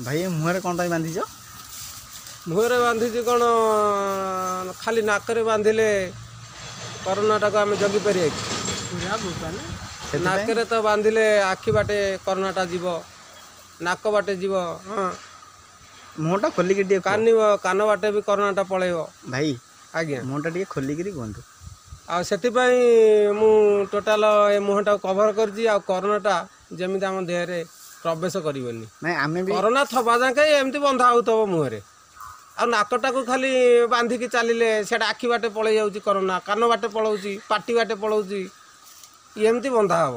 ଭାଇ, ମୁହଁରେ କ'ଣ ପାଇଁ ବାନ୍ଧିଛ? ମୁହଁରେ ବାନ୍ଧିଛି କ'ଣ, ଖାଲି ନାକରେ ବାନ୍ଧିଲେ କରୋନାଟାକୁ ଆମେ ଜଗିପାରିବା କି? ନାକରେ ତ ବାନ୍ଧିଲେ ଆଖି ବାଟେ କରୋନାଟା ଯିବ, ନାକ ବାଟେ ଯିବ। ହଁ, ମୁହଁଟା ଖୋଲିକି ଟିକେ, କାନ ବାଟେ ବି କରୋନାଟା ପଳେଇବ। ଭାଇ। ଆଜ୍ଞା। ମୁହଁଟା ଟିକେ ଖୋଲିକିରି କୁହନ୍ତୁ। ଆଉ ସେଥିପାଇଁ ମୁଁ ଟୋଟାଲ ଏ ମୁହଁଟାକୁ କଭର କରିଛି, ଆଉ କରୋନାଟା ଯେମିତି ଆମ ଦେହରେ ପ୍ରବେଶ କରିବନି। ନାଇଁ, ଆମେ ବି କରୋନା ଥବା ଯାକେ ଏମିତି ବନ୍ଧା ହେଉଥିବ ମୁହଁରେ, ଆଉ ନାକଟାକୁ ଖାଲି ବାନ୍ଧିକି ଚାଲିଲେ ସେଇଟା ଆଖି ବାଟେ ପଳେଇ ଯାଉଛି କରୋନା, କାନ ବାଟେ ପଳାଉଛି, ପାଟି ବାଟେ ପଳାଉଛି। ଏମିତି ବନ୍ଧା ହେବ।